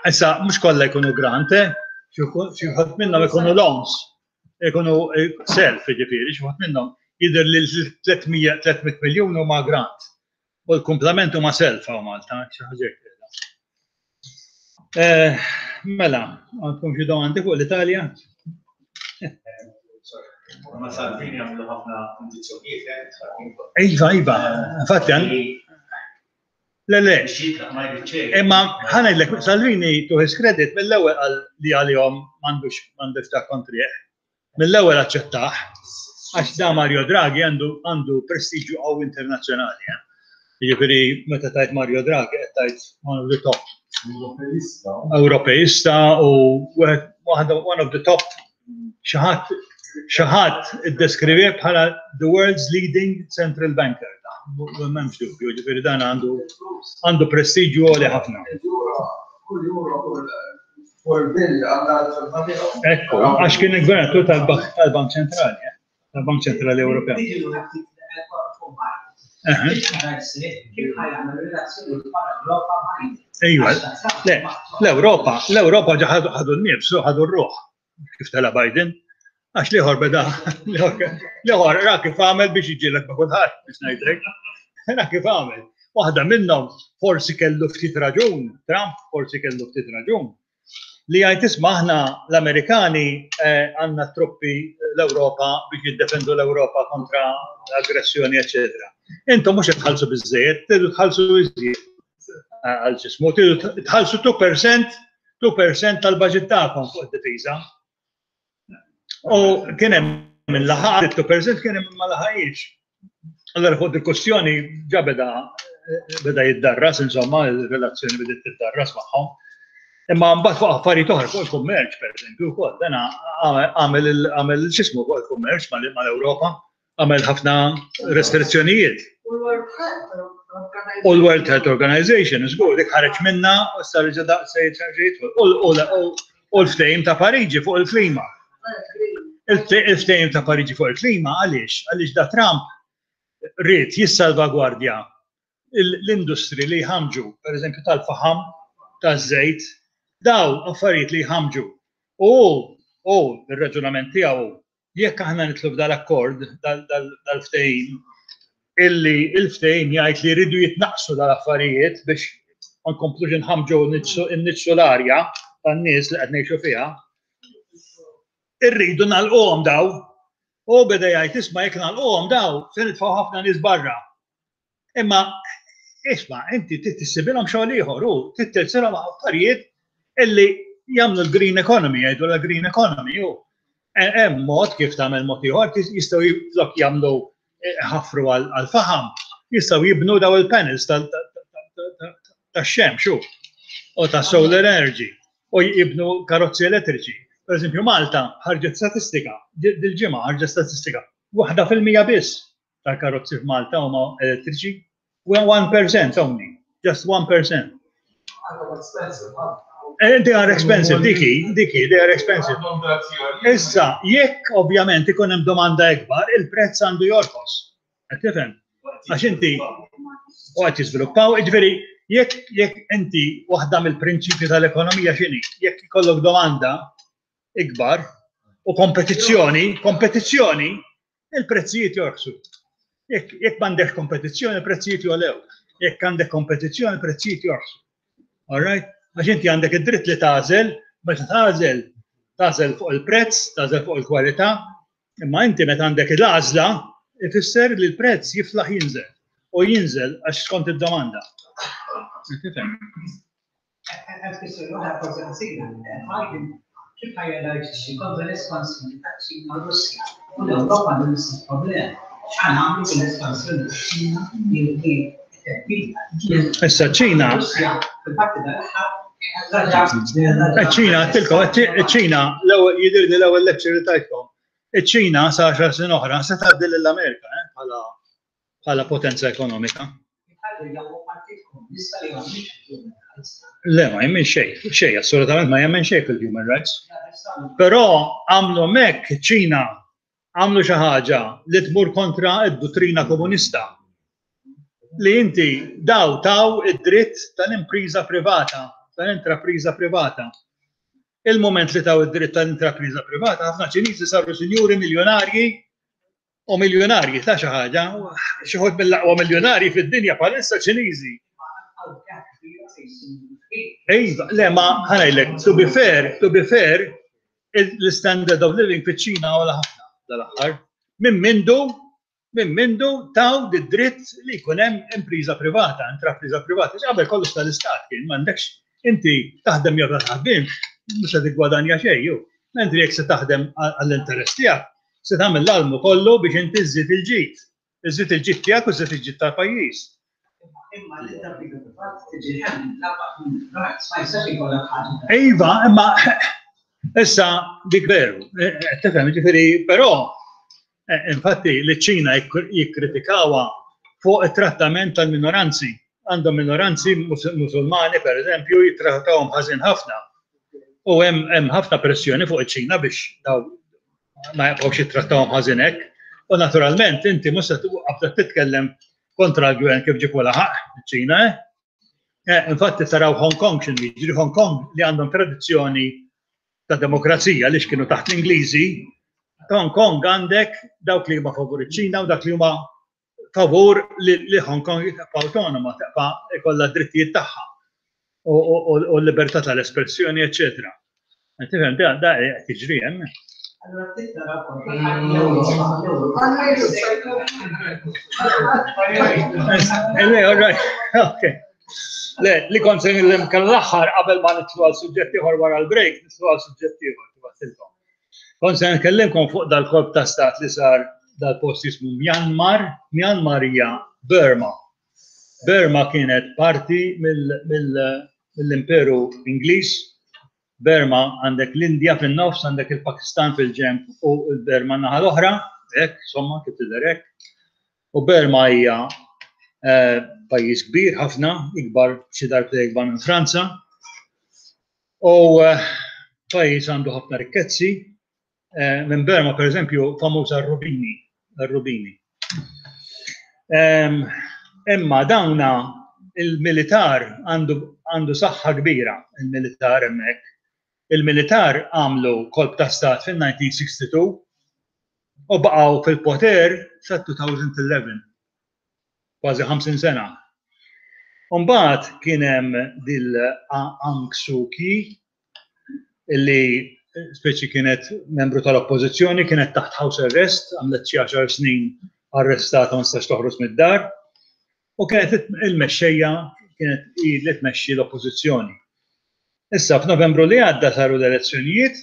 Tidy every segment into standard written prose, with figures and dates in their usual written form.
Issa, mhux kollha jkunu grant, eh? Xi wħud minnhom ikunu loans, ikunu eh, self, jiġifieri, xi wħud minnhom jidher li 300 miljun huma grant. U l-kumplament huma self hawn Malta, xi ħaġa hekk. Eh, mela, għandkom xi domandi fuq l-Italja? Ma Salvini għamlu ħafna kondizzjonijiet. Eh, iva, iva, infatti għan. Le, le. Imma ħanajlek, Salvini to his credit mill-ewwel qal li għalihom m'għandux m'għandux ta' kontrih. Mill-ewwel aċċettah, għax da Mario Draghi għandu għandu prestiġju qawwi internazzjonali. Eh? Jiġifieri meta tajt Mario Draghi qed tajt one of the top. Ewropeista. Ewropeista u one of the top xi ħadd xi ħadd iddeskrivi bħala the world's leading central banker. M'hemmx dubju, ġifieri dan għandu għandu prestiġju għoli ħafna. Ekku, għax kien il-gvernatur tal-Bank Ċentrali, eh, tal-Bank Ċentrali Ewropew. Ejwa, le, l-Ewropa, l-Ewropa ħadu n-nifs, ħadu r-ruħ, kif tela Biden, għax liħor beda, liħor ra kif għamel biex iġilek ma' kulħadd, biex ngħidlek. Ra kif għamel. Waħda minnhom forsi kellu ftit raġun, Trump forsi kellu ftit raġun, li jgħid isma' aħna l-Amerikani eh, għandna truppi l-Ewropa biex jiddefendu l-Ewropa kontra l-aggressjoni, eċetera. Intom mhux qed tħallsu biżejjed, tridu tħallsu iżjed eh, għal ġismu, tridu tħallsu 2% 2% tal-baġit tagħkom fuq id-difiża. U kien hemm minn laħaq, 2% kien hemm ma laħaqix. Allora fuq il-kwestjoni ġa beda beda jiddarras, insomma, il-relazzjoni bediet tiddarras magħhom. Imma mbagħad fuq affarijiet oħra, fuq il-kummerċ, pereżempju, wkoll, dan għamel għamel x'ismu fuq il-kummerċ mal-Ewropa, għamel ħafna restrizzjonijiet. U l-World Health Organization, żgur, dik ħareġ minna u issa reġa' daqs se jidħol. U l-ftehim ta' Pariġi fuq il-klima. Il-ftehim ta' Pariġi fuq il-klima għaliex? Għaliex da Trump ried jissalvagwardja l-industri li jħamġu, per eżempju tal-faħam, taż-żejt, daw affarijiet li jħamġu. U u ir-raġunament tiegħu jekk aħna nidħlu f'dal-akkord, dal-ftehim, illi il-ftehim jgħid li jridu jitnaqqsu dal-affarijiet biex ma nkomplux inħammġu nniġġsu l-arja tan-nies li qed ngħixu fiha, irridu nagħlquhom daw. U beda jgħid isma' jekk nagħlquhom daw se nitfgħu ħafna nies barra. Imma isma' inti trid tissibilhom xogħol ieħor u trid tilsilhom affarijiet illi jagħmlu l-green economy, jgħidu l-green economy u hemm mod kif tagħmel mod ieħor jistgħu flok jagħmlu eh, ħafru għal-faħam, jistgħu jibnu daw il-panels tax-xemx u ta' solar energy u jibnu karozzi elettriċi. Per eżempju, Malta ħarġet statistika, dil-ġimgħa ħarġet statistika, 1% biss tal-karozzi f'Malta huma elettriċi. 1% only, just 1%. Eh, they are expensive, diki, diki, they are expensive. Issa, jekk ovvjament ikun hemm domanda ikbar, il-prezz għandu jorqos. Qed tifhem? Għax inti u qed jiżviluppaw, jiġifieri jekk jekk inti waħda mill-prinċipji tal-ekonomija x'inhi, jekk ikollok domanda ikbar u kompetizzjoni, kompetizzjoni, il-prezzijiet jorħsu. Jekk jekk m'għandekx kompetizzjoni, il-prezzijiet jogħlew. Jekk għandek kompetizzjoni, il-prezzijiet jorħsu. All right? Għax inti għandek id-dritt li tagħżel, meta tagħżel, tagħżel fuq il-prezz, tagħżel fuq il-kwalità, imma inti meta għandek l-għażla, ifisser li l-prezz jiflaħ jinżel. U jinżel għax skont id-domanda. Tifhem? Hemm kwistjoni oħra forsi ħażina, Biden kif ħa jirreaġixxi kontra l-espansjoni taċ-Ċina u r-Russja u l-Ewropa għandha l-istess problema. X'ħa nagħmlu bil-espansjoni taċ-Ċina li hi theddida. Issa ċ-Ċina. Russja fil-parti tal-aħħar Iċ-Ċina, għedtilkom, iċ-Ċina, l-ewwel jidhirli l-ewwel lecture li tajtkom. Iċ-Ċina sa għaxar snin oħra se tgħaddi lill-Amerika eh, bħala bħala potenza ekonomika. Le, ma jemmen xejn, xejn, assolutament ma jemmen xejn fil-human rights. Però għamlu mek ċina għamlu xi ħaġa li tmur kontra id-duttrina komunista. Li inti daw taw id-dritt tal-impriża privata. tal-intrapriża privata. Il-mument li taw id-dritt tal-intrapriża privata, ħafna Ċiniżi saru sinjuri miljonarji u miljonarji ta' xi ħaġa, xi ħodd mill-aqwa miljonarji fid-dinja bħalissa Ċiniżi. Iva, le ma ħanajlek, to be fair, to be fair, l-standard of living fiċ-Ċina għola ħafna dal-aħħar. Minn mindu, minn mindu taw dritt li jkun hemm impriża privata, intrapriża privata. Qabel kollox tal-istat kien, m'għandekx inti taħdem jew taħdimx, mhux se tiggwadanja xejn ju. Mentri jekk se taħdem għall-interess tiegħek, se tagħmel l-almu kollu biex inti żżid il-ġid. Iżżid il-ġid tiegħek u żżid il-ġid tal-pajjiż. Imma l-intrapriża privata tiġi hemm ma jistax ikollok ħaġa. Iva, imma issa dik veru, tifhem, ġifieri, però infatti li ċ-Ċina jikkritikawha fuq it-trattament tal-minoranzi. Għandhom minoranzi Musulmani, per eżempju, jittrattawhom ħażin ħafna. U hemm ħafna pressjoni fuq iċ-Ċina biex daw ma jibqgħux jittrattawhom ħażin hekk. U naturalment inti mhux se tibda titkellem kontra l-gvern kif ġipu laħaq iċ-Ċina, eh? Infatti taraw Hong Kong x'inhu jiġri, Hong Kong li għandhom tradizzjoni ta' demokrazija li kienu taħt l-Ingliżi, Hong Kong għandek dawk li huma favur iċ-Ċina u dak li huma favur li Hong Kong tibqa' autonoma, tibqa' ikollha d-drittijiet tagħha u l-libertà tal-espressjoni, eċċetera. Tifhem, da qed jiġri hemm. Le, li kont se nillim l-aħħar qabel ma nitlu għal suġġett ieħor wara l-break, nitlu għal suġġett ieħor tibattilkom. Kont se nkellimkom fuq dal-kolp ta' stat li sar dal-post jismu Myanmar, Myanmar hija Burma. Burma kienet parti mill-Imperu Ingliż. Burma għandek l-Indja fin-nofs, għandek il-Pakistan fil-ġenb u l-Burma naħa l-oħra, hekk, insomma, kif tidher hekk. U Burma hija eh, pajjiż kbir ħafna, ikbar xi darbta ikbar minn Franza. U eh, pajjiż għandu ħafna rikkezzi, Eh, minn Burma, per eżempju, famuża r-rubini, r-rubini. Ehm, imma dawna il-militar għandu saħħa kbira, il-militar hemmhekk. Il-militar għamlu kolp ta' stat fin-1962 u baqgħu fil-poter sa 2011. Kważi 50 sena. Umbagħad kien hemm dil Aung Suu Kyi illi speċi kienet membru tal-oppożizzjoni, kienet taħt house arrest, għamlet xi għaxar snin arrestata ma nistax toħroġ mid-dar, u kienet il-mexxejja kienet hi li tmexxi l-oppożizzjoni. Issa f'Novembru li għadda saru l-elezzjonijiet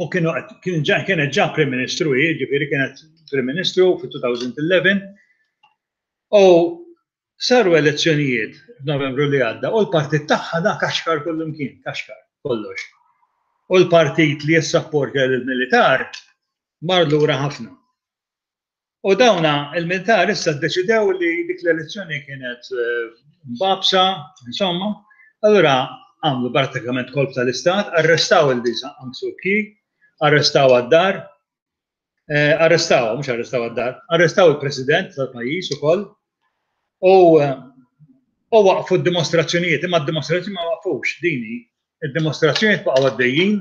u kienu kienet ġa Prim Ministru hi, ġifieri kienet Prim Ministru fit-2011 u Saru elezzjonijiet f'Novembru li għadda u l-partit tagħha da kaxkar kullimkien, kaxkar kollox. U l-partit li jissapportja lill-militar mar lura ħafna. U dawna il-militar issa ddeċidew li dik l-elezzjoni kienet eh, mbabsa, insomma, allura għamlu pratikament kolp tal-istat, arrestaw il-Lisa Aung Suu Kyi, arrestaw għad-dar, Eh, arrestaw, mhux arrestaw għad-dar, arrestaw il-President tal-pajjiż ukoll u eh, u waqfu d-dimostrazzjonijiet, imma d-dimostrazzjoni ma waqfux dini, id-dimostrazzjonijiet baqgħu għaddejjin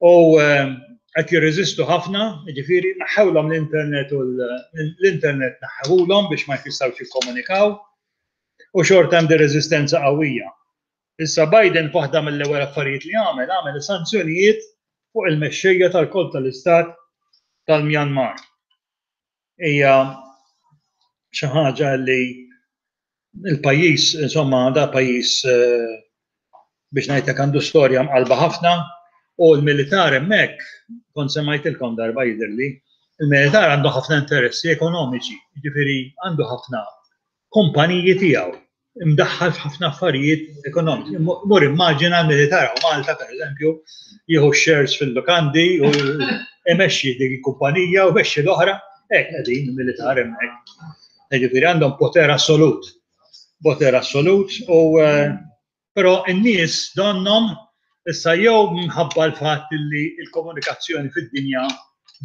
u eh, qed jirreżistu ħafna, jiġifieri naħħewlhom l-internet u l-internet naħħewlhom biex ma jfissawx jikkomunikaw u xorta hemm reżistenza qawwija. Issa Biden f'waħda mill-ewwel affarijiet li għamel, għamel sanzjonijiet fuq il-mexxejja tal-kolp tal-istat tal-Myanmar. Hija xi ħaġa li il-pajjiż, insomma, da pajjiż eh, biex ngħidlek għandu storja mqalba ħafna u l-militar hemmhekk kont semmajtilkom darba jidhirli, il-militar għandu ħafna interessi ekonomiċi, jiġifieri għandu ħafna kumpaniji tiegħu imdaħħal f'ħafna affarijiet ekonomiċi. Mur immaġina l-militar u Malta, per eżempju, jieħu shares fil-lukandi u imexxi dik il-kumpanija u mexxi l-oħra, hekk qegħdin il-militar hemmhekk. Jiġifieri għandhom poter assolut. Poter assolut u eh, Però n-nies donnhom issa jew minħabba l-fatt li l-komunikazzjoni fid-dinja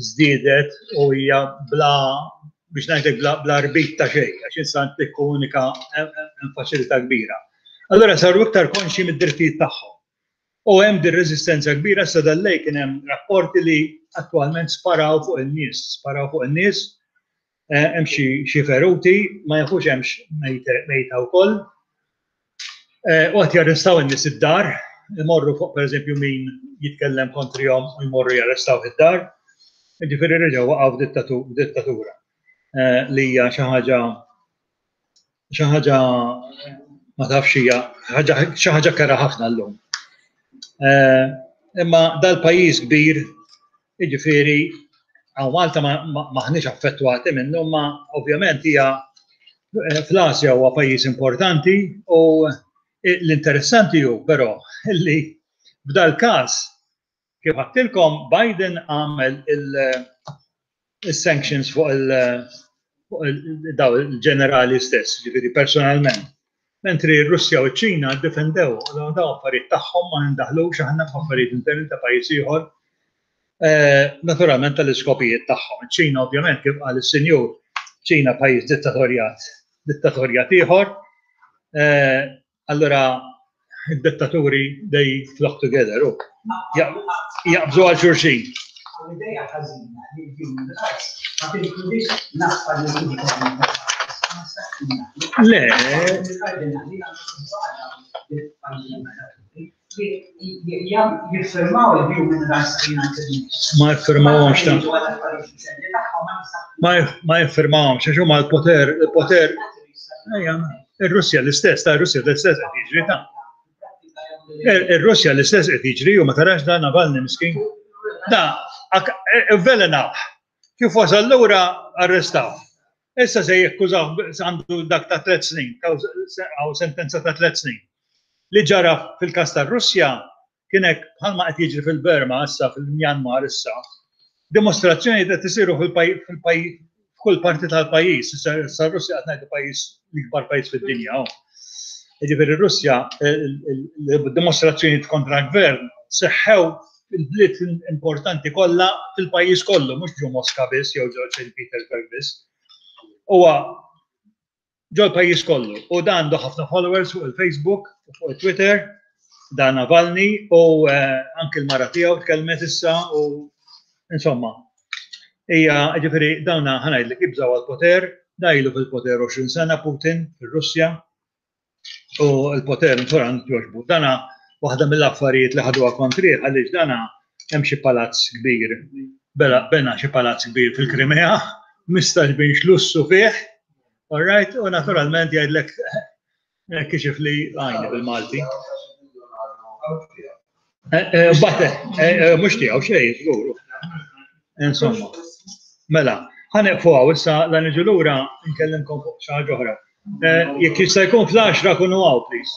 żdiedet u hija bla biex ngħidlek bla, bla rbit ta' xejn, għax issa tikkomunika hemm faċilità kbira. Allura saru iktar konxji mid-drittijiet tagħhom. U hemm din reżistenza kbira sa dal-lejl kien hemm rapporti li attwalment sparaw fuq in-nies, sparaw fuq in-nies, eh, hemm xi feruti, ma jafux hemmx mejta wkoll. Eh, u qed jarrestaw in-nies id-dar, imorru fuq pereżempju min jitkellem kontrihom u jmorru jarrestaw id-dar. Ġifieri reġgħu waqgħu f'dittatura eh, li hija xi ħaġa xi ħaġa ma tafx hija xi ħaġa kera ħafna llum. Eh, imma dal-pajjiż kbir, jiġifieri hawn Malta maħniex affettwati minnu, ma ovvjament hija eh, fl-Asja huwa pajjiż importanti u l-interessanti hu però li f'dal każ Kif għedtilkom, Biden għamel il-sanctions fuq il-ġenerali stess, ġifieri personalment. Mentri r-Russja u ċ-Ċina ddefendew dawn affarijiet tagħhom ma nindaħlux aħna f'affarijiet interni ta' pajjiż ieħor. Eh, naturalment tal-iskopijiet tagħhom. Iċ-Ċina ovvjament kif qal is-Sinjur, ċina pajjiż dittatorjat, dittatorjat ieħor. Eh, Allura id-dittaturi they flock together u jaqbżu għal xulxin. L-ideja ħażina li l-human rights ma tinkludix l-affarijiet Le. Jiffirmaw il-Human Rights United Nations. Ma jiffirmawhomx ta' Ma jiffirmawhomx għax huma l-poter, il-poter. Ir-Russja l-istess, ta' Russja l-istess qed jiġri ta' Ir-Russja l-istess qed jiġri u ma tarax da Navalny miskin. Da, avvelenaw. Kif wasal lura arrestaw. Issa se jekkużaw għandu dak ta' tlet snin, għaw sentenza ta' tlet snin. Li ġara fil-kas tar-Russja kien hekk bħalma qed jiġri fil-Burma issa fil-Myanmar issa. Dimostrazzjoni qed isiru fil-pajjiż f'kull parti tal-pajjiż, issa r-Russja qed ngħidu pajjiż l-ikbar pajjiż fid-dinja. Oh. Jiġifieri r-Russja il-dimostrazzjonijiet kontra l-gvern seħħew il-bliet importanti kollha fil-pajjiż kollu, mhux ġo Moska biss jew ġo St. Petersburg biss. Huwa ġol-pajjiż kollu. U dan għandu ħafna followers fuq il-Facebook u fuq il-Twitter, dan Navalny, u eh, anki l-mara tiegħu tkellmet issa u insomma. Hija ġifieri dawna ħanajdlek jibżgħu għall-poter, dajlu fil-poter 20 sena Putin fir-Russja u l-poter naturalment jogħġbu. Dana waħda mill-affarijiet li ħaduha kontrih għaliex dana hemm xi palazz kbir, bela bena xi palazz kbir fil-Krimea, mistaġbin lussu fih, all right, u naturalment jgħidlek eh, kixif li għajni bil-Malti. Eh, eh, Batte, eh, mux tiegħu xejn, żgur. Insomma, mela, ħaneqfu għaw issa la niġu lura nkellimkom fuq xi ħaġa oħra. Jekk jista' jkun fl-10 kunu għaw, please.